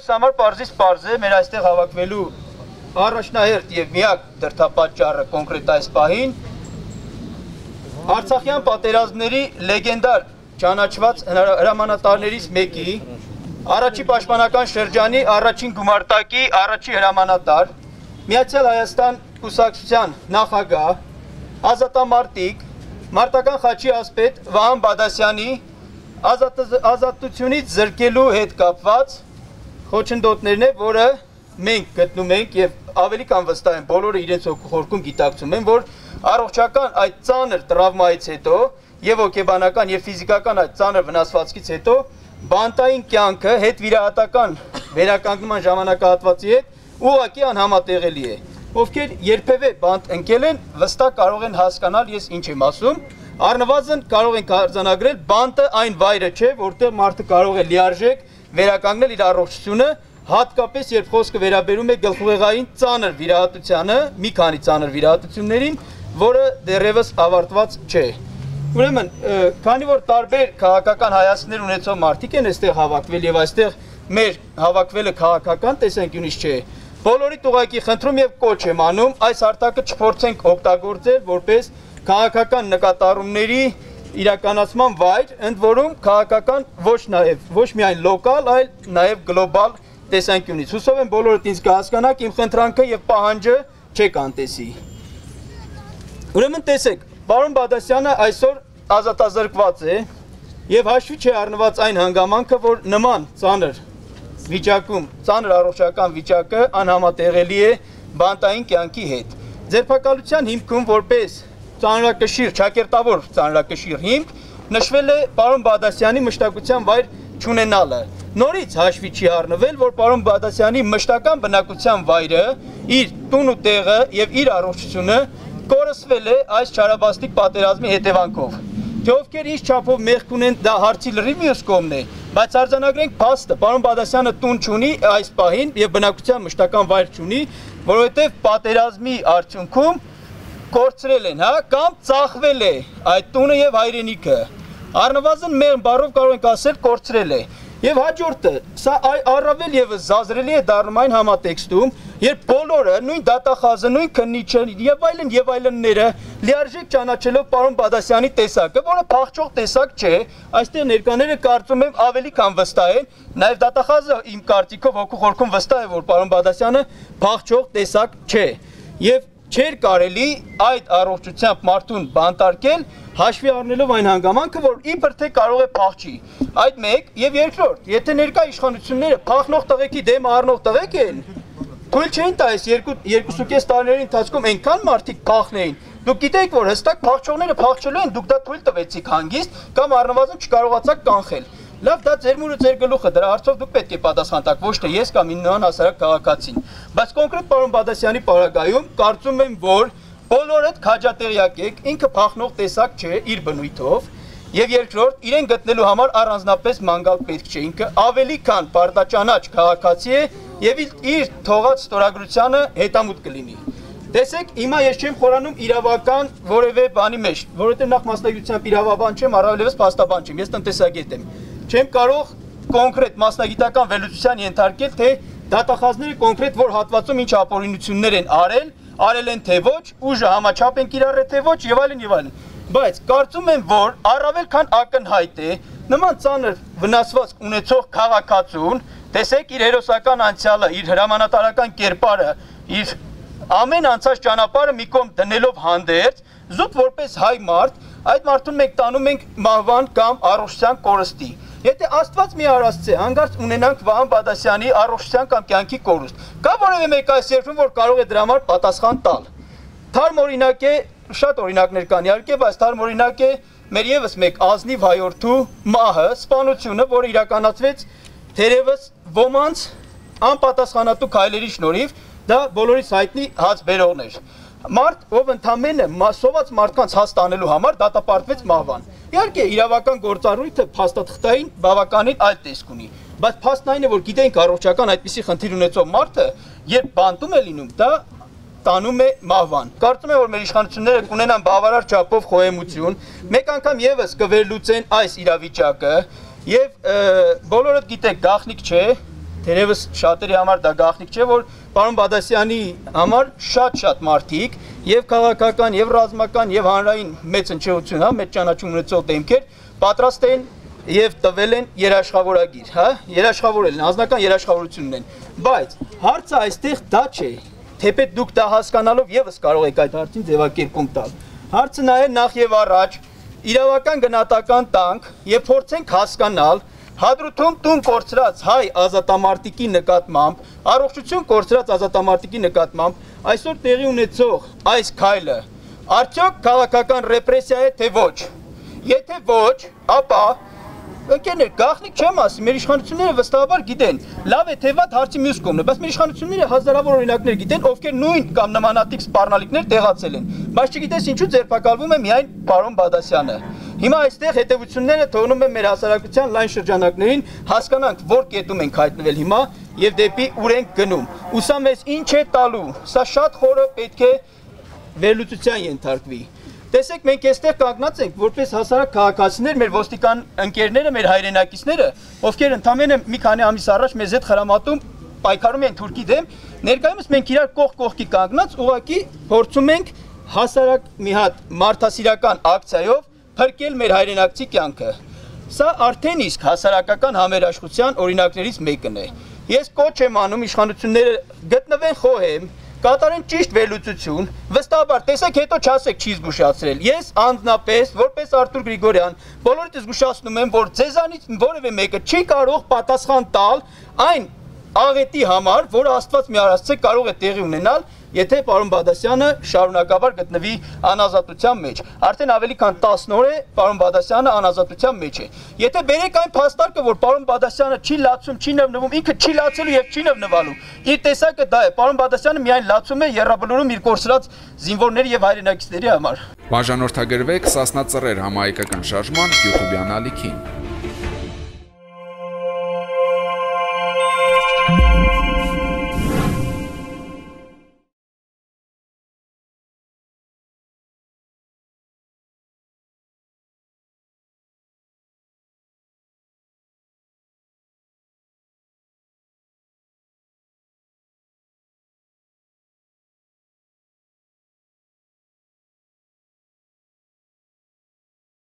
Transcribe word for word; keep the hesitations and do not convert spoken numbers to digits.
Մեր համար պարզից պարզ է, մեր այստեղ հավաքվելու առաջնահերթ եւ միակ դրդապատճառը կոնկրետ այս պահին Արցախյան պատերազմների լեգենդար ճանաչված հրամանատարներից մեկի, առաջի պաշտպանական շրջանի առաջին գումարտակի առաջի հրամանատար, Միացյալ Հայաստան կուսակցության նախագահ, ազատամարտիկ, մարտական խաչի ասպետ Վահան Բադասյանի ազատությունից զրկելու հետ կապված խոչընդոտներն է, որը մենք գտնում ենք եւ ավելի կան վստահ են բոլորը իրենց հոգում գիտակցում են, որ առողջական այդ ծանր տրավմայից հետո եւ հոգեբանական եւ ֆիզիկական այդ ծանր վնասվածքից հետո բանտային կյանքը հետ վիրահատական վերականգնման ժամանակահատվածի հետ ուղղակի անհամատեղելի է։ Ովքեր երբևէ բանտ ընկել են, վստահ կարող են հասկանալ ես ինչ եմ ասում, առնվազն կարող ենք արձանագրել բանտը այն վայրը չէ, որտեղ մարդը կարող է լիարժեք վերականգնել իր առողջությունը, հատկապես երբ խոսքը վերաբերում է գլխուղեղային ծանր վիրահատությանը, մի քանի ծանր վիրահատություններին, որը դեռևս ավարտված չէ։ Ուրեմն, քանի որ տարբեր քաղաքական հայացքներ ունեցող մարդիկ են այստեղ հավաքվել եւ այստեղ մեր հավաքվելը քաղաքական տեսանկյունից չէ, բոլորիդ ուղղակի խնդրում եւ կոչ եմ անում այս հարթակը չփորձենք օգտագործել որպես քաղաքական նկատառումների իրականացման վայր, ընդ որում քաղաքական ոչ նաեւ ոչ միայն լոկալ, այլ նաեւ գլոբալ տեսանկյունից։ Հուսով եմ բոլորդ ինձ կհասկանաք, իմ խնդրանքը եւ պահանջը չեք անտեսի։ Ուրեմն տեսեք, պարոն Բադասյանը այսօր ազատազրկված է եւ հաշվի չի առնված այն հանգամանքը, որ նման ծանր վիճակում, ծանր առողջական վիճակը անհամատեղելի է բանտային կյանքի հետ։ Ձերբակալության հիմքում որպես ծանրակշիռ, ճակերտավոր ծանրակշիռ հիմք նշվել է պարոն Բադասյանի մշտակության վայր չունենալը։ Նորից հաշվի չի առնվել, որ պարոն Բադասյանի մշտական բնակության վայրը, իր տուն ու տեղը եւ իր առողջությունը կորսվել է այս չարաբաստիկ պատերազմի հետևանքով։ Թե ովքեր ինչ չափով մեղք ունեն, դա հարցի լրիվ մյուս կողմն է, բայց արձանագրենք փաստը, պարոն Բադասյանը տուն չունի այս պահին եւ բնակության մշտական վայր չունի, որովհետեւ պատերազմի արդյունքում կորցրել են, հա, կամ ծախվել է այդ տունը եւ հայրենիքը։ Առնվազն մեր բառով կարող ենք ասել կորցրել է։ Եվ հաջորդը, սա առավել եւս զազրելի է դառնում այն համատեքստում, երբ բոլորը, նույն դատախազը, նույն քննիչը եւ այլն եւ այլնները լիարժեք ճանաչելով պարոն Բադասյանի տեսակը, որը փախչող տեսակ չէ, այստեղ ներկաները կարծում եմ ավելի քան վստահ են, նաեւ դատախազը իմ կարծիքով հոգու խորքում վստահ է, որ պարոն Բադասյանը փախչող տեսակ չէ։ Եվ չէր կարելի այդ առողջությամբ մարդուն բանտարկել, հաշվի առնելով այն հանգամանքը, որ իբր թե կարող է փախչի։ Այդ մեկ եւ երկրորդ, եթե ներկա իշխանությունները փախնող տղեկի դեմ առնող տղեկ են, թույլ չէին տա այս երկուսուկես տարիների ընթացքում այնքան մարդիկ փախնեին։ Դուք գիտեք, որ հստակ փախչողները փախչելու են, դուք դա թույլ տվեցիք հանգիստ կամ առնվազն չկարողացաք կանխել։ Լավ, դա ձեր մուրը ձեր գլուխը, դրա հարցով դուք պետք է պատասխան տաք, ոչ թե ես կամ ինքնան հասարակ քաղաքացին։ Բայց կոնկրետ պարոն Բադասյանի պարագայում կարծում եմ, որ բոլորդ քաջատեղյակ եք, ինքը փախնող տեսակ չէ իր բնույթով, եւ երկրորդ, իրեն գտնելու համար առանձնապես մանգալ պետք չէ, ինքը ավելի քան պարտաճանաչ քաղաքացի է եւ իր թողած ստորագրությանը հետամուտ կլինի։ Տեսեք, հիմա ես չեմ խորանում իրավական որևէ բանի մեջ, որովհետեւ նախ մասնագիտությամբ իրավաբան չեմ, առավելևս փաստաբան չեմ, ես տնտեսագետ եմ։ Չեմ կարող կոնկրետ մասնագիտական վերլուծության ենթարկել, թե դատախազները կոնկրետ որ հատվածում ինչ ապօրինություններ են արել, արել են թե ոչ, ուժը համաչափ են կիրառել թե ոչ եւ այլն եւ այլն։ Բայց կարծում եմ, որ առավել քան ակնհայտ է նման ծանր վնասվածք ունեցող քաղաքացուն, տեսեք իր հերոսական անցյալը, իր հրամանատարական կերպարը, իր ամեն անցած ճանապարհը մի կողմ դնելով հանդերձ, զուտ որպես հայ մարդ, այդ մարդուն մենք տանում ենք մահվան կամ առողջության կորստի։ Եթե Աստված մի արածցե, հանգարց ունենանք Վահան Բադասյանի առողջության կամ կյանքի կորուստ, կա որևէ մեկ այս երկրում, որ կարող է դրա համար պատասխան տալ։ Թարմ օրինակ է, շատ օրինակներ կան իհարկե, բայց թարմ օրինակ է մեր եւս մեկ ազնիվ հայորդու մահը, սպանությունը, որը իրականացվեց թերևս ոմանց անպատասխանատու քայլերի շնորհիվ, դա բոլորիս հայտնի հաց բերողն էր։ Մարդ, ով ընդամենը սոված մարդկանց հաս տանելու համար դատապարտվեց մահվան։ Իհարկե, իրավական գործառույթը փաստաթղթային բավականին այլ տեսք ունի, բայց փաստն այն է, որ գիտենք առողջական այդպիսի խնդիր ունեցող մարդը, երբ բանտում է լինում, դա տանում է մահվան։ Կարծում եմ, որ մեր իշխանությունները կունենան բավարար չափով խոհեմություն, մեկ անգամ եւս կվերլուծեն այս իրավիճակը եւ բոլորդ գիտեք, գաղտնիք չէ, թերևս շատերի համար դա գաղտնիք չէ, որ պարոն Բադասյանի համար շատ-շատ մարդիկ եւ քաղաքական, եւ ռազմական, եւ հանրային մեծ հնչեղություն, հա, մեծ ճանաչում ունեցող դեմքեր պատրաստ են եւ տվել են երաշխավորագիր, հա, երաշխավորել են, անձնական երաշխավորություն ունեն, բայց հարցը այստեղ դա չէ, թեպետ դուք դա հասկանալով եւս կարող եք այդ հարցին ձևակերպում տալ։ Հարցը նա է նախ եւ առաջ իրավական գնահատական տանք եւ փորձենք հասկանալ Հադրութում տուն կորցրած հայ ազատամարտիկի նկատմամբ, առողջություն կորցրած ազատամարտիկի նկատմամբ այսօր տեղի ունեցող այս քայլը արդյոք քաղաքական ռեպրեսիա է թե ոչ։ Եթե ոչ, ապա ընկերներ, գաղտնիք չեմ ասի, մեր իշխանությունները վստահաբար գիտեն, լավ է թե վատ հարցի մյուս կողմն է, բայց մեր իշխանությունները հազարավոր օրինակներ գիտեն, ովքեր նույն կամ նմանատիպ սպառնալիքներ տեղացել են, բայց չգիտես ինչու ձերբակալվում է միայն պարոն Բադասյանը։ Հիմա այստեղ հետևությունները թողնում են մեր հասարակության լայն շրջանակներին, հասկանանք, որ կետում ենք հայտնվել հիմա եւ դեպի ուր ենք գնում։ Ու սա մեզ ինչ է տալու, սա շատ խորը պետք է վերլուծության ենթարկվի։ Տեսեք, մենք այստեղ կանգնած ենք որպես հասարակ քաղաքացիներ, մեր ոստիկան ընկերները, մեր հայրենակիցները, ովքեր ընդամենը մի քանի ամիս առաջ մեզ հետ խրամատում պայքարում են Թուրքի դեմ, ներկայումս մենք իրար կողք կողքի կանգնած ուղղակի փորձում ենք հասարակ մի հատ մարդասիրական ակցիայով փրկել մեր հայրենակցի կյանքը։ Սա արդեն իսկ հասարակական համերաշխության օրինակներից մեկն է։ Ես կոչ եմ անում իշխանությունները գտնվեն խոհեմ, կատարեն ճիշտ վերլուծություն, վստահաբար, տեսեք հետո չասեք չի զգուշացրել։ Ես անձնապես, որպես Արթուր Գրիգորյան, բոլորիդ զգուշացնում եմ, որ ձեզանից որևէ մեկը չի կարող պատասխան տալ այն աղետի համար, որը Աստված մի արածце կարող է տեղի ունենալ, եթե պարոն Բադասյանը շարունակաբար գտնվի անազատության մեջ։ Արդեն ավելի քան տասն օր է պարոն Բադասյանը անազատության մեջ է։ Եթե բերեք այն փաստարկը, որ պարոն Բադասյանը չի լացում, չի նվնվում, ինքը չի լացելու եւ չի նվնվալու։ Իր տեսակը դա է։ Պարոն Բադասյանը միայն լացում է եռաբլուրում իր կորցրած զինվորների եւ հայրենակիցների համար։ Բաժանորդագրվեք Սասնա Ծռեր համահայկական շարժման YouTube-յան ալիքին։